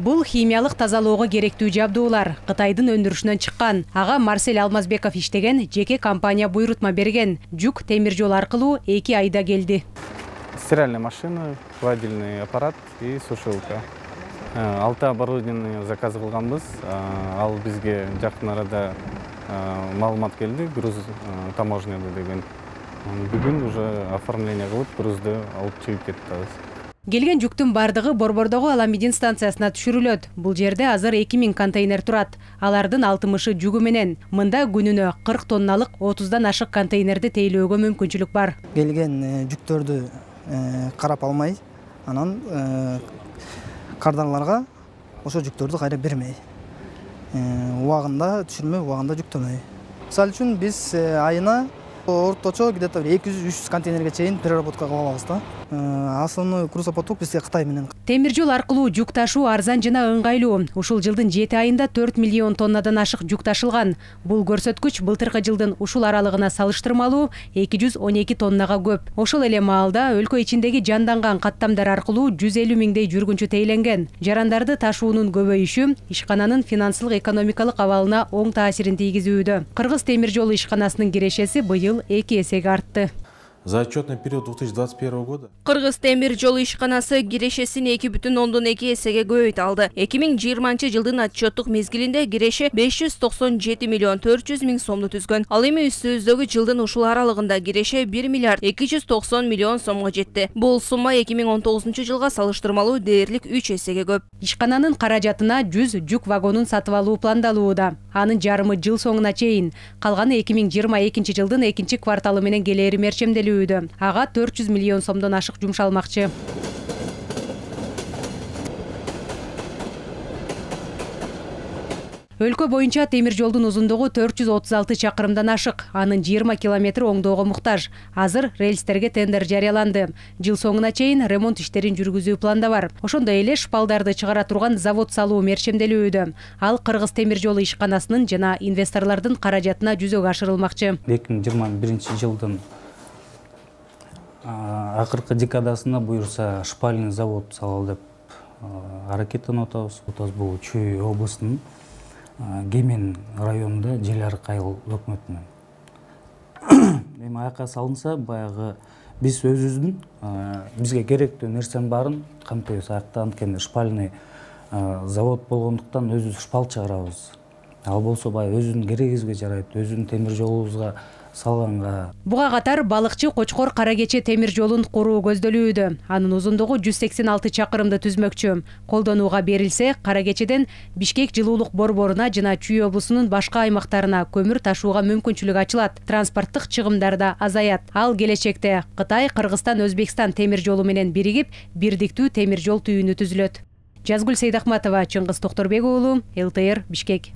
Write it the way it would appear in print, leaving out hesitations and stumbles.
Бул химиялык тазалоого керектүү жабдуулар Кытайдын өндүрүшүнөн чыккан. Ага Марсель Алмазбеков иштеген жеке компания буйрутма берген. Жүк темир жол аркылуу 2 айда келди. Стиральная машина, гладильный аппарат и сушилка. 6 оборудование заказ кылганбыз. Ал бизге жакын арада маалымат келди, груз таможняда деген. Бүгүн уже оформление кылып, грузду алып чыгып кетебиз. Келген жүктүн бардыгы Борбордогу Аламедин станциясына түшүрүлөт. Бул жерде азыр 2000 контейнер турат. Алардын 60-ы жүгү менен. Мында күнүнө 40 тонналык 30дан ашык контейнерди тейлөөгө мүмкүнчүлүк бар. Келген жүктөрдү карап алмай, анан кардарларга ошо жүктөрдү кайра бермей, убагында түшүрмөй, убагында жүктөмөй. Мисалы үчүн биз айына орточо где-то 200-300 контейнерге чейин переработка кылып алабыз да. Основной грузопоток бизге Кытай менен. Темир жол аркылуу жүк ташуу арзан жана ыңгайлуу. Ушул жылдын 7 айында 4 миллион тоннадан ашык жүк ташылган. Бул көрсөткүч былтыркы жылдын ушул аралыгына салыштырмалуу 212 тоннага көп. Ошол эле маалда өлкө ичиндеги жанданган каттамдар аркылуу 150 миңдей жүргүнчү тейленген. Жарандарды ташуунун көбөйүшү ишкананын финансылык экономикалык абалына оң таасирин тийгизүүдө. Кыргыз темир жолу ишканасынын кирешеси быйыл 2 эсеге артты. За отчетный период 2021 года Кыргыз темир жолу ишканасы кирешесин 2,2 эсеге көбөйтүп алды. 2020 жылдын отчеттук мезгилинде киреше 597 миллион 400 миң сомду түзгөн. Ал эми үстүбүздөгү жылдын ушул аралыгында киреше 1 миллиард 290 миллион сомго жетти. Бул сумма 2019 жылга салыштырмалуу дээрлик 3 эсеге көп. Ишкананын каражатына 100 жүк вагонун сатып алуу пландалууда. Анын жарымы жыл соңуна чейин, калганы 2022 жылдын 2 кварталы менен келери мерчемделүү. Ага 400 миллион сомдон ашык жумшалмакчы. Өлкө боюнча темир жолдун узундугу 436 чакырымдан ашык. Анын 20 километри оңдоого муктаж. Азыр рельстерге тендер жарыяланды. Жыл соңуна чейин ремонт иштерин жүргүзүү планда бар. Ошондой эле шпалдарды чыгара турган завод салуу мерчемделүүдө. Ал Кыргыз темир жолу ишканасынын жана инвесторлордун каражатына жүзөгө ашырылмакчы. 2021 жылдын акыркы декадасында буюрса шпальный завод салалы деп аракеттенип атабыз. Бул Чүй областынын Кемен районунда Желярык айыл өкмөтүнөн. Эми аяка салынса, баягы биз өзүбүздүн бизге керектүү нерсенин баарын камтыйбыз. Аякта анткени шпальный завод болгондуктан өзүбүз шпал чыгарабыз. Ал болсо баягы өзүнүн керегибизге жарайт, өзүнүн темир жолубузга салганга. Буга катар балыкчы Кочкор Кара Кече темир жолун куруу көздөлүүдө. Анын узундугу 186 чакырымды түзмөкчү. Колдонууга берилсе, Кара Кечеден Бишкек жылуулук борборуна жана Чүй облусунун башка аймактарына көмүр ташууга мүмкүнчүлүк ачылат. Транспорттук чыгымдар да азаят. Ал келечекте Кытай, Кыргызстан, Өзбекстан темир жолу менен биригип, бирдиктүү темир жол түйүнү түзүлөт. Жазгүл Сейдахматова, Чыңгыз Токторбек уулу, ЛТР, Бишкек.